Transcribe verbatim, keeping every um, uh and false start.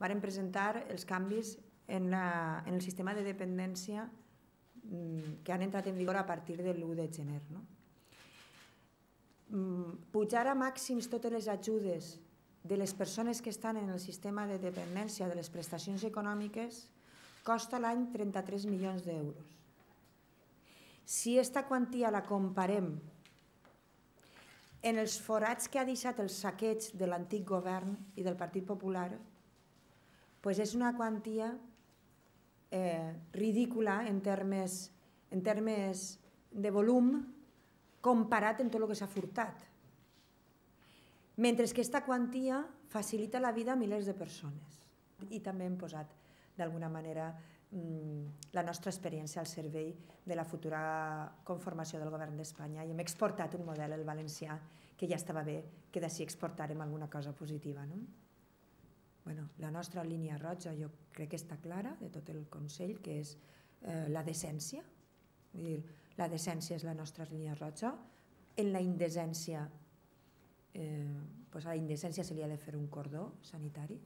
varen presentar els canvis en, la, en el sistema de dependència que han entrat en vigor a partir de l'u de gener. No? Pujar a màxims totes les ajudes de les persones que estan en el sistema de dependència de les prestacions econòmiques costa a l'any trenta-tres milions d'euros. Si aquesta quantia la comparem en els forats que ha deixat el saqueig de l'antic govern i del Partit Popular, doncs és una quantia eh, ridícula en termes, en termes de volum comparat amb tot el que s'ha furtat. Mentre que aquesta quantia facilita la vida a milers de persones. I també hem posat, d'alguna manera, la nostra experiència al servei de la futura conformació del govern d'Espanya i hem exportat un model, el valencià, que ja estava bé que d'ací exportàrem alguna cosa positiva. No? Bueno, la nostra línia roja jo crec que està clara de tot el Consell, que és eh, la decència. Vull dir, la decència és la nostra línia roja. En la indecència, eh, pues a la indecència se li ha de fer un cordó sanitari.